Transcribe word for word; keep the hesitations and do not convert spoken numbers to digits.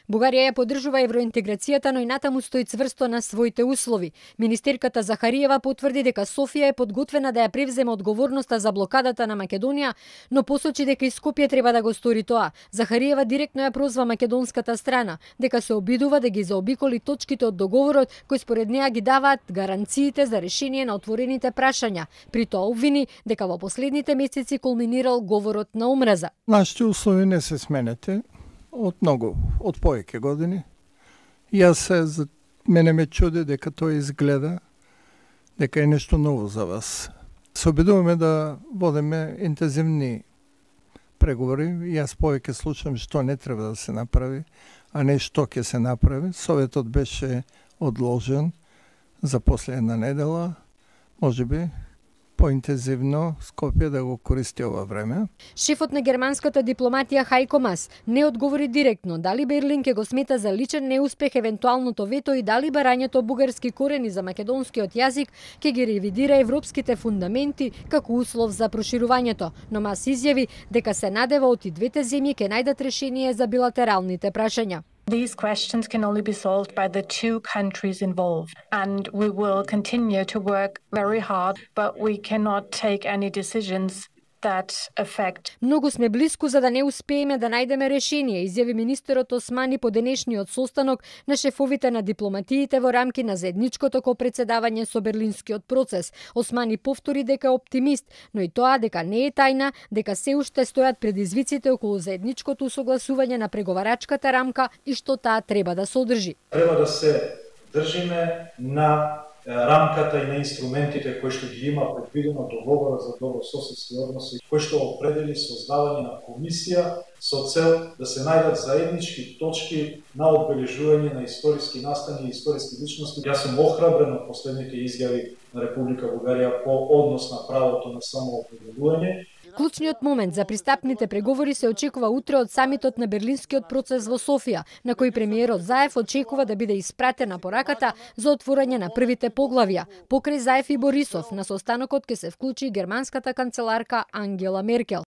Бугарија ја поддржува евроинтеграцијата, но и натаму стои цврсто на своите услови. Министерката Захариева потврди дека Софија е подготвена да ја превземе одговорноста за блокадата на Македонија, но посочи дека и Скопје треба да го стори тоа. Захариева директно ја прозва македонската страна, дека се обидува да ги заобиколи точките од договорот кои според неа ги даваат гаранциите за решение на отворените прашања. При тоа обвини дека во последните месеци кулминирал говорот на омраза. Нашите услови не се сменете од многу, од повеќе години. Јас се, за мене ме чуди дека тоа изгледа дека е нешто ново за вас. Се обидуваме да водиме интензивни преговори. Јас повеќе слушам што не треба да се направи, а не што ќе се направи. Советот беше одложен за после една недела, можеби поинтензивно Скопје да го користи ова време. Шефот на германската дипломатија Хајко Мас не одговори директно дали Берлин ќе го смета за личен неуспех евентуалното вето и дали барањето бугарски корени за македонскиот јазик ќе ги ревидира европските фундаменти како услов за проширувањето. Но Мас изјави дека се надева од и двете земји ќе најдат решение за билатералните прашања. These questions can only be solved by the two countries involved, and we will continue to work very hard, but we cannot take any decisions that affect. Многу сме блиску за да не успееме да најдеме решение, изјави министерот Османи по денешниот состанок на шефовите на дипломатиите во рамки на заедничкото копредседавање со Берлинскиот процес. Османи повтори дека е оптимист, но и тоа дека не е тајна, дека се уште стојат предизвиците околу заедничкото усогласување на преговарачката рамка и што таа треба да содржи. Треба да се држиме на рамката и на инструментите кои што ги има предвидено договорот за добрососедски односи, кој што определи создавање на комисија со цел да се најдат заеднички точки на одбележување на историски настани и историски личности. Јас сум охрабрен од последните изјави на Република Бугарија по однос на правото на самоопределување. Клучниот момент за пристапните преговори се очекува утре од самитот на Берлинскиот процес во Софија, на кој премиерот Заев очекува да биде испратена пораката за отворање на првите поглавја. Покрај Заев и Борисов, на состанокот ќе се вклучи германската канцеларка Ангела Меркел.